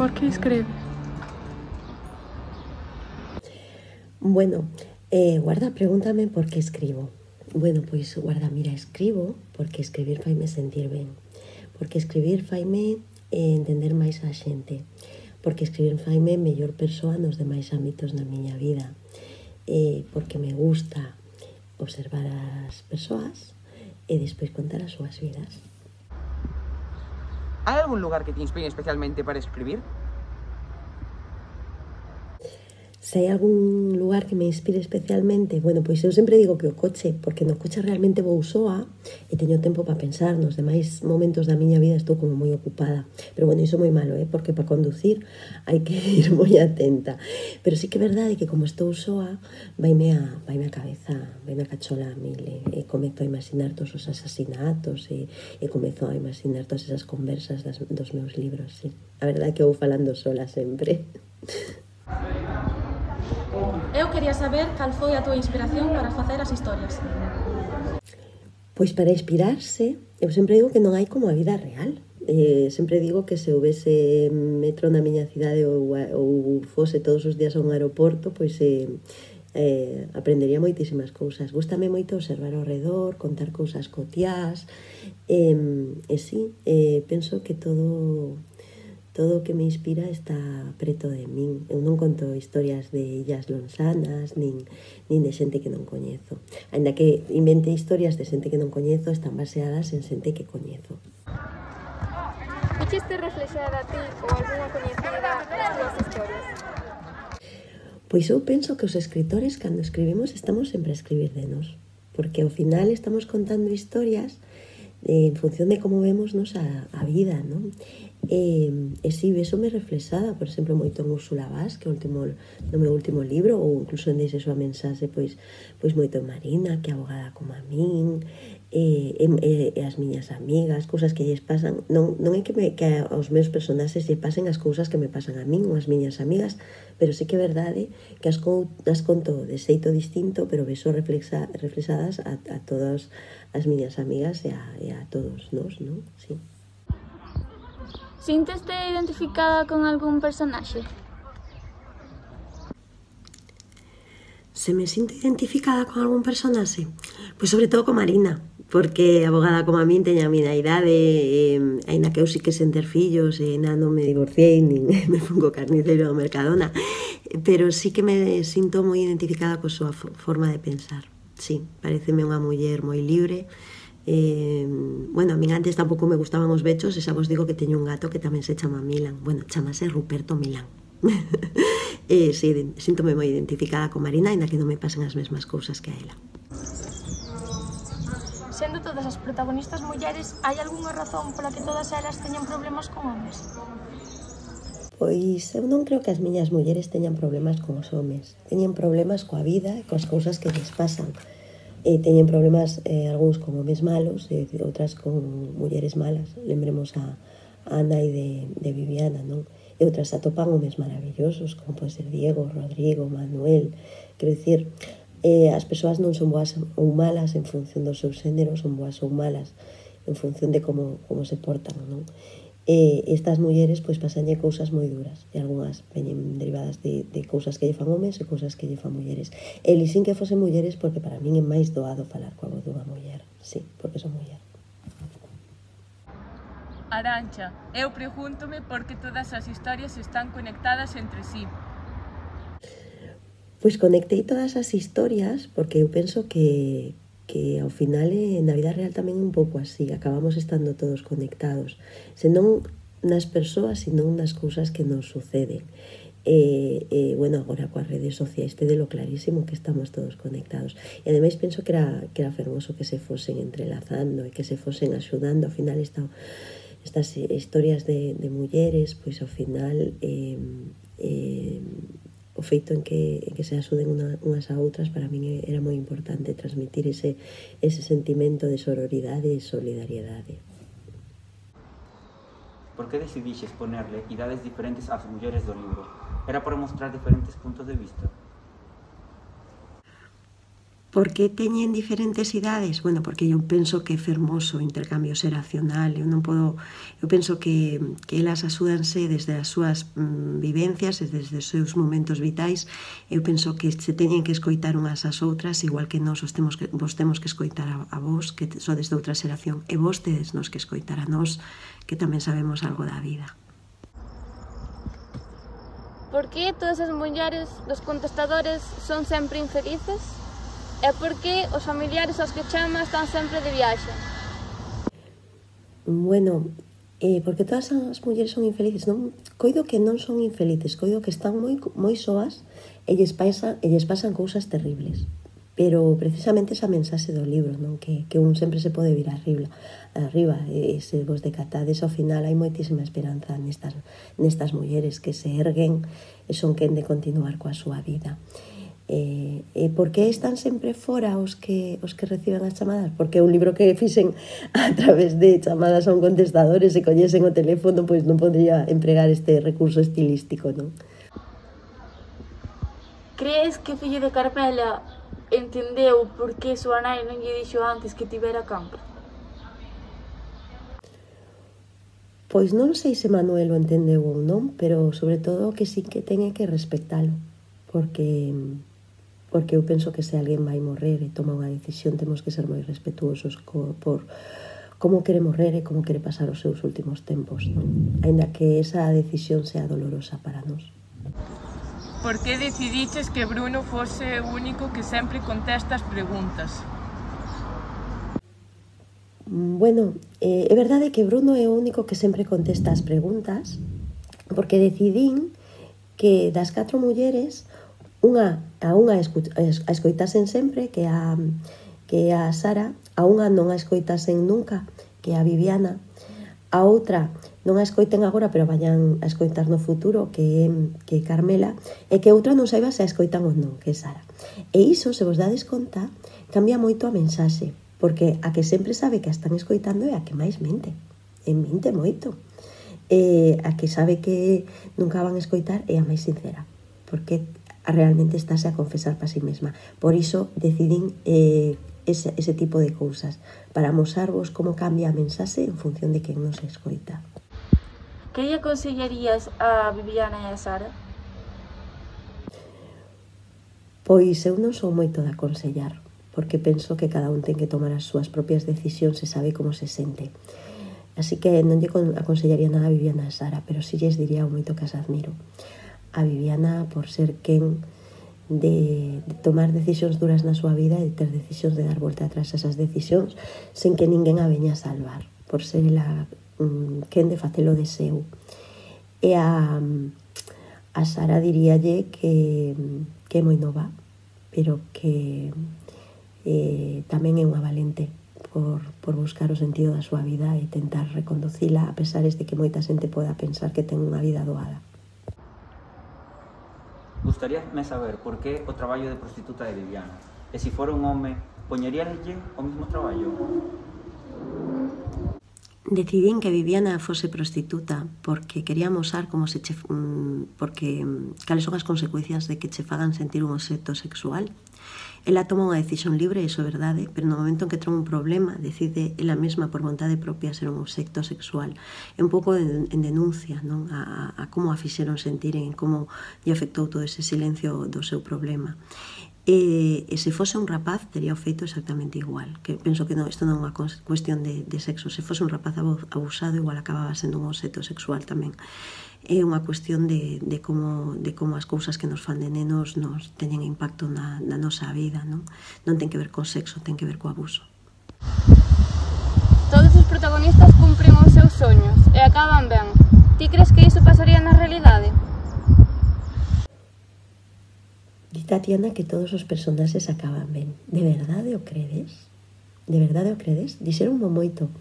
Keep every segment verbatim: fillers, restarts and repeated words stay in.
por que escreves? Bueno, eh, guarda, pregúntame por que escribo. Bueno, pois, guarda, mira, escribo porque escribir faime sentir ben. Porque escribir faime eh, entender máis a xente. Porque escribir faime mellor persoa nos demais ámbitos da miña vida. Eh, porque me gusta observar as persoas e despois contar as súas vidas. Hai algún lugar que te inspire especialmente para escribir? Se hai algún lugar que me inspire especialmente, bueno, pois eu sempre digo que o coche, porque no coche realmente vou soa e teño tempo para pensar. Nos demais momentos da miña vida estou como moi ocupada. Pero bueno, iso é moi malo, eh? Porque para conducir hai que ir moi atenta. Pero sí que é verdade que como estou soa, vaime a, vaime a cabeza, vaime a cachola a mil, e, e comezo a imaginar todos os asasinatos e, e comezo a imaginar todas esas conversas das, dos meus libros, sí. A verdade é que vou falando sola sempre. Eu quería saber cal foi a túa inspiración para facer as historias. Pois para inspirarse, eu sempre digo que non hai como a vida real. Eh, sempre digo que se houvese metro na miña cidade ou, ou fose todos os días a un aeroporto, pois eh, eh, aprendería moitísimas cousas. Gústame moito observar ao redor, contar cousas cotiás, e, e sí, eh, penso que todo... Todo o que me inspira está preto de min. Eu non conto historias de illas lonsanas, nin, nin de xente que non coñezo. Ainda que invente historias de xente que non coñezo, están baseadas en xente que coñezo. Vixeste reflexada a ti ou algunha coñecida nas túas historias? Pois eu penso que os escritores, cando escribimos, estamos sempre a escribir de nós. Porque ao final estamos contando historias en función de como vemos nos a, a vida, non? E, e si, eso me reflexada, por exemplo, moito en Úrsula Vaz, que é o último, no meu último libro, ou incluso en Deixe súa mensaxe, pois, pois moito en Marina, que é abogada como a min, e, e, e as miñas amigas, cousas que lles pasan. Non, non é que, me, que aos meus personaxes lle pasen as cousas que me pasan a min ou as miñas amigas, pero sí que é verdade que as, as conto de xeito distinto, pero vexo reflexa, reflexadas a, a todas as miñas amigas e a, e a todos nós, non? Sí. Sinteste identificada con algún personaxe? Se me sinto identificada con algún personaxe? Pois sobre todo con Marina, porque abogada como a min teña a miña idade, e, aínda que eu sí que sen ter fillos, e na non me divorciei, nin me fun co carniceiro do Mercadona, pero sí que me sinto moi identificada coa súa forma de pensar. Sí, pareceme unha muller moi libre. Eh, bueno, a min antes tampouco me gustaban os bechos, e xa vos digo que teño un gato que tamén se chama Milan. Bueno, chamase Ruperto Milan. eh, sí, síntome moi identificada con Marina, ainda que non me pasen as mesmas cousas que a ela. Sendo todas as protagonistas mulleres, hai algunha razón pola que todas elas teñan problemas con homes? Pois eu non creo que as miñas mulleres teñan problemas con os homes. Teñen problemas coa vida e coas cousas que lles pasan. E teñen problemas, eh, algúns con homes malos e outras con mulleres malas. Lembremos a, a Ana e de, de Viviana, non? E outras atopan homes maravillosos, como pode ser Diego, Rodrigo, Manuel. Quero dicir, eh, as persoas non son boas ou malas en función do seu xénero, son boas ou malas en función de como, como se portan, non? E estas mulleres, pois, pasanlle cousas moi duras, e algunhas veñen derivadas de, de cousas que lle fan homes e cousas que lle fan mulleres. E sin que fosen mulleres, porque para min é máis doado falar coa voz dunha muller, sí, porque son muller. Arantxa, eu pregúntome por que todas as historias están conectadas entre sí. Pois conectei todas as historias porque eu penso que que ao final eh, na vida real tamén é un pouco así, acabamos estando todos conectados, senón nas persoas, senón nas cousas que nos suceden. E, e bueno, agora coas redes sociais te de lo clarísimo que estamos todos conectados. E ademais penso que era, que era fermoso que se fosen entrelazando e que se fosen axudando. Ao final esta, estas historias de, de mulleres, pois ao final eh, eh, o feito en que, en que se axuden unha, unhas a outras, para min era moi importante transmitir ese, ese sentimento de sororidade e solidariedade. Por que decidixes ponerle idades diferentes ás mulleres do libro? Era para mostrar diferentes puntos de vista? Por que teñen diferentes idades? Bueno, porque eu penso que é fermoso o intercambio xeracional. Eu non podo, eu penso que, que elas axúdanse desde as súas mm, vivencias e desde os seus momentos vitais. Eu penso que se teñen que escoitar unhas ás outras, igual que nós os temos que, vos temos que escoitar a, a vos, que sodes de outra xeración, e vos tedes nos que escoitar a nós, que tamén sabemos algo da vida. Por que todas as mulleres dos contestadores son sempre infelices? E por que os familiares aos que chama están sempre de viaxe? Bueno, eh, porque todas as mulleres son infelices, non? Coido que non son infelices, coido que están moi, moi soas e lles, pasan, e lles pasan cousas terribles. Pero precisamente esa mensaxe do libro, non? Que, que un sempre se pode vir arriba, arriba e se vos decatades ao final hai moitísima esperanza nestas, nestas mulleres que se erguen e son quen de continuar coa súa vida. E, e por que están sempre fora os que os que reciben as chamadas? Porque é un libro que fixen a través de chamadas a un contestador e se collesen o teléfono, pois non podría empregar este recurso estilístico, non? Crees que fillo de Carmela entendeu por que súa nai non lle dixo antes que tivera cancro? Pois non sei se Manuel o entendeu ou non, pero sobre todo que sí que ten que respectalo, porque porque eu penso que se alguén vai morrer e toma unha decisión temos que ser moi respetuosos co, por como quere morrer e como quere pasar os seus últimos tempos, non? Ainda que esa decisión sea dolorosa para nós. Por que decidiches que Bruno fose o único que sempre contesta as preguntas? Bueno, eh, é verdade que Bruno é o único que sempre contesta as preguntas porque decidín que das catro mulleres unha a unha a escoitasen sempre, que a que a Sara, a unha non a escoitasen nunca, que a Viviana, a outra non a escoiten agora, pero vayan a escoitar no futuro, que é que Carmela, e que outra non saiba se a escoitan ou non, que é Sara. E iso, se vos dades conta, cambia moito a mensaxe, porque a que sempre sabe que a están escoitando é a que máis mente, e mente moito. E a que sabe que nunca van a escoitar é a máis sincera, porque realmente estáse a confesar para si mesma. Por iso decidín eh, ese, ese tipo de cousas, para amosarvos como cambia a mensaxe en función de quen nos escoita. Que lle aconsellarías a Viviana e a Sara? Pois eu non sou moito de aconsellar, porque penso que cada un ten que tomar as súas propias decisións e sabe como se sente. Así que non lle aconsellaría nada a Viviana e a Sara, pero si lles diría o moito que as admiro. A Viviana por ser quen de, de tomar decisións duras na súa vida e de ter decisións de dar volta atrás a esas decisións sen que ninguén a veña a salvar, por ser ela um, quen de facelo de seu. E a, a Sara diríalle que, que é moi nova, pero que eh, tamén é unha valente por, por buscar o sentido da súa vida e tentar reconducila a pesares de que moita xente poda pensar que ten unha vida doada. Gustaríame saber por que o traballo de prostituta de Viviana. E se fora un home, poñeríanlle o mismo traballo? Decidín que Viviana fose prostituta porque quería amosar como se che, porque cales son as consecuencias de que che fagan sentir un obxecto sexual. Ela toma unha decisión libre, iso é verdade, pero no momento en que troma un problema decide ela mesma por vontade propia ser un obxecto sexual. É un pouco en, en denuncia, non? A, a como a fixeron sentir en como lle afectou todo ese silencio do seu problema. E, e se fose un rapaz tería o feito exactamente igual, que penso que non, isto non é unha cuestión de, de sexo. Se fose un rapaz abusado igual acababa sendo un obxecto sexual tamén. É unha cuestión de, de, como, de como as cousas que nos fan de nenos nos teñen impacto na, na nosa vida, non? Non ten que ver co sexo, ten que ver co abuso. Todos os protagonistas cumpren os seus soños e acaban ben. Ti crees que iso pasaría na realidade? Di Tatiana que todos os personaxes acaban ben. De verdade o credes? De verdade o credes? Dixeronmo moito.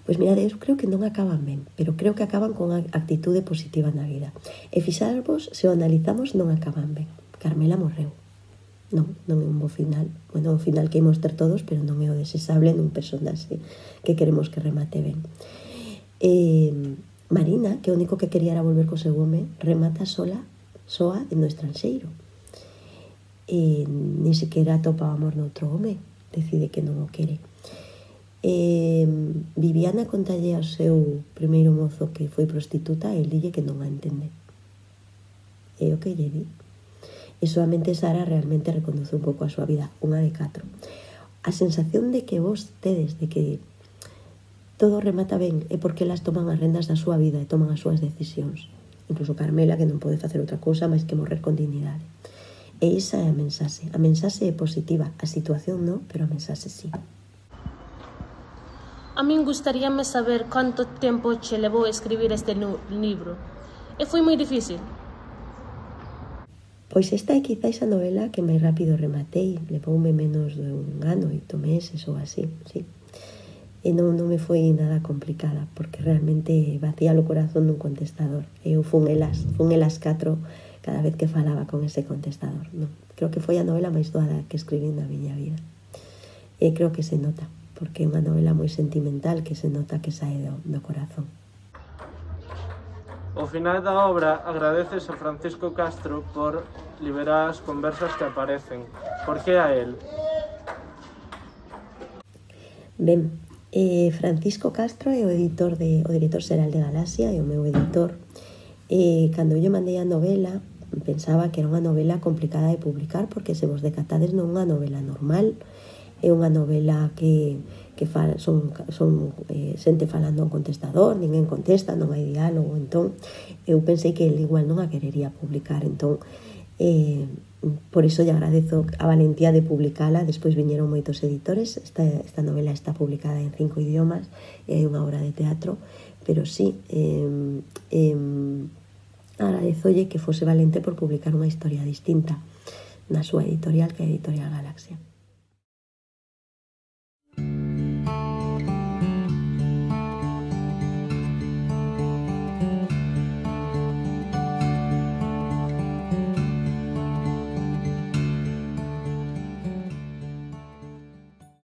Pois mirade, eu creo que non acaban ben, pero creo que acaban con a actitude positiva na vida. E fixarvos, se o analizamos, non acaban ben. Carmela morreu. Non, non é un bo final. Bueno, un final que imos ter todos, pero non é o desexable nun personaxe que queremos que remate ben. E Marina, que o único que quería era volver co seu home, remata sola, soa no estranxeiro. e ni sequera atopa o amor noutro home, decide que non o quere. E Viviana contalle ao seu primeiro mozo que foi prostituta e dille que non a entende. É o que lle di. E solamente Sara realmente reconduce un pouco a súa vida, unha de catro. A sensación de que vos tedes, de que todo remata ben, é porque elas toman as rendas da súa vida e toman as súas decisións. Incluso Carmela, que non pode facer outra cousa máis que morrer con dignidade. E esa é a mensaxe. A mensaxe é positiva, a situación non, pero a mensaxe sí. A min gustaríame saber canto tempo che levou a escribir este libro. E foi moi difícil. Pois esta é quizáis a novela que máis rápido rematei. Levoume menos de un ano, oito meses ou así, sí. E non, non me foi nada complicada, porque realmente vacía o corazón dun contestador. Eu fun elas, fun elas catro cada vez que falaba con ese contestador. Non, creo que foi a novela máis doada que escribí na miña vida. E creo que se nota, porque é unha novela moi sentimental que se nota que sae do, do corazón. Ao final da obra agradeces a Francisco Castro por liberar as conversas que aparecen. Por que a él? Ben, eh, Francisco Castro é o editor de, o director xeral de Galaxia, é o meu editor. E cando eu mandei a novela, pensaba que era unha novela complicada de publicar, porque se vos decatades non é unha novela normal, é unha novela que, que fa, son, son eh, xente falando a un contestador, ninguén contesta, non hai diálogo. Entón, eu pensei que ele igual non a querería publicar. Entón, eh, por iso lle agradezo a valentía de publicala. Despois viñeron moitos editores. Esta, esta novela está publicada en cinco idiomas, é unha obra de teatro, pero sí, eh, eh, agradezolle que fose valente por publicar unha historia distinta na súa editorial, que é a Editorial Galaxia.